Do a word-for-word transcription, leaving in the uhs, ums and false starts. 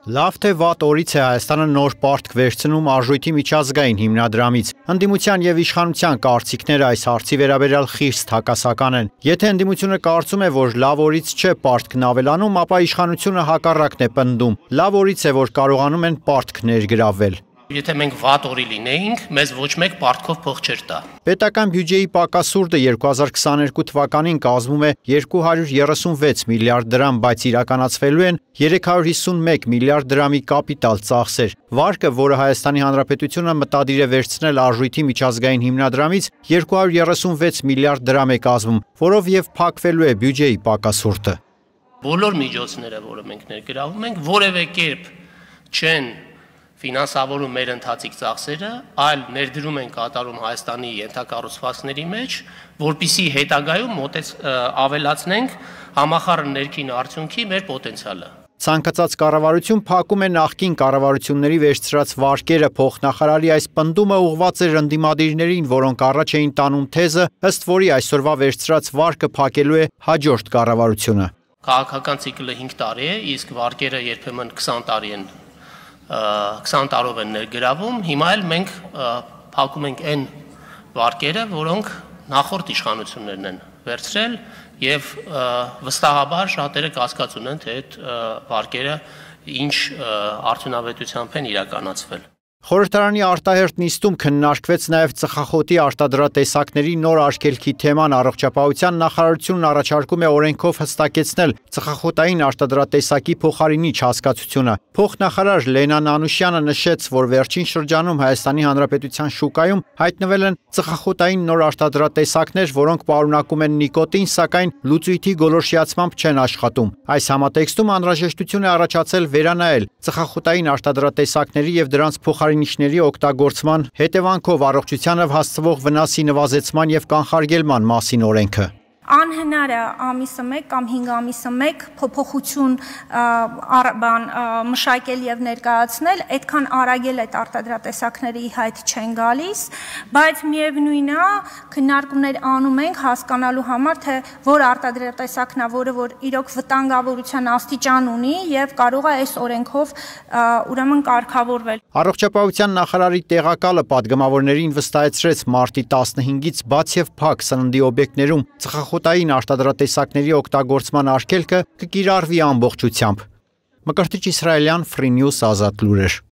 Լավ թե վատ օրից է Հայաստանը նոր պարտք վերցնում Արժույթի միջազգային հիմնադրամից։ Ընդդիմության եւ իշխանության կարծիքները այս հարցի վերաբերյալ խիստ հակասական են։ Եթե ընդդիմությունը կարծում է, որ լավ օրից չէ պարտքն ավելանում, ապա իշխանությունը հակառակն է պնդում։ Լավ օրից է, որ կարողանում են պարտք ներգրավել։ Եթե մենք վատ օրի լինեինք, մեզ ոչ մեկ պարտքով փող չէր տա։ Պետական բյուջեի պակասուրդը երկու հազար քսաներկու թվականին կազմում է երկու հարյուր երեսունվեց միլիարդ դրամ, բայց իրականացվելու են երեք հարյուր հիսունմեկ միլիարդ դրամի կապիտալ ծախսեր։ Վարկը, որը Հայաստանի Հանրապետությունը մտադիր է վերցնել Արժույթի միջազգային հիմնադրամից, երկու հարյուր երեսունվեց միլիարդ դրամ է կազմում, որով եւ փակվելու է բյուջեի պակասուրդը։ Բոլոր միջոցները, որը մենք ներգրավում ենք, որևէ կերպ չեն ֆինանսավորում մեր ընթացիկ ծախսերը, այլ ներդրում են կատարում Հայաստանի ենթակառուցվածքների մեջ, որպիսի հետագայում մոտեց ավելացնենք համախառն ներքին արդյունքի մեր պոտենցիալը։ Ցանկացած կառավարություն փակում է նախկին կառավարությունների վերցրած վարկերը, փոխնախարարի այս պնդումը ուղղված էր ընդդիմադիրներին, որոնք առաջ էին տանում թեզը, ըստ որի այսօրվա վերցրած վարկը փակելու է հաջորդ կառավարությունը։ Քաղաքական ցիկլը հինգ տարի է, իսկ վարկերը երբեմն քսան տարի են քսան տարով են ներգրավում, հիմա էլ մենք փակում ենք այն վարկերը, որոնք նախորդ իշխանություններն են վերցրել եւ վստահաբար շատերը կասկած ունեն, թե այդ վարկերը ինչ արդյունավետությամբ են իրականացվել։ Խորհրդարանի արտահերթ նիստում քննարկվեց նաև ծխախոտի արտադրատեսակների նոր արգելքի թեման։ Առողջապահության նախարարությունն առաջարկում է օրենքով հստակեցնել ծխախոտային արտադրատեսակի փոխարինիչ հասկացությունը։ Փոխնախարար Լենա Նանուշյանը նշեց, որ վերջին շրջանում Հայաստանի Հանրապետության շուկայում հայտնվել են ծխախոտային նոր արտադրատեսակներ, որոնք պարունակում են նիկոտին, սակայն լուծույթի գոլորշիացմամբ չեն աշխատում։ Այս համատեքստում անհրաժեշտություն է առաջացել վերանայել ծխախոտային արտադրատեսակների եւ դրանց փոխարինիչների օգտագործման հետևանքով առողջությանը հասցվող վնասի նվազեցման եւ կանխարգելման մասին օրենքը։ Անհնար է ամիսը մեկ կամ հինգ ամիսը մեկ փոփոխություն բան մշակել եւ ներկայացնել, այդքան արագել այդ արտադրատեսակների հայտ չեն գալիս, բայց միևնույնն է քննարկումներ անում ենք հասկանալու համար, թե որ արտադրատեսակն է, որը որ իրոք վտանգավորության աստիճան ունի եւ կարող է այս օրենքով ուրեմն կարգավորվել։ Առողջապահության նախարարի տեղակալը պատգամավորներին վստահեցրեց մարտի տասնհինգից բաց եւ փակ սննդի օբյեկտներում ծխախոտային արտադրատեսակների օգտագործման արգելքը կկիրառվի ամբողջությամբ։ Մկրտիչ Իսրայելյան, Free News, Ազատ լուրեր։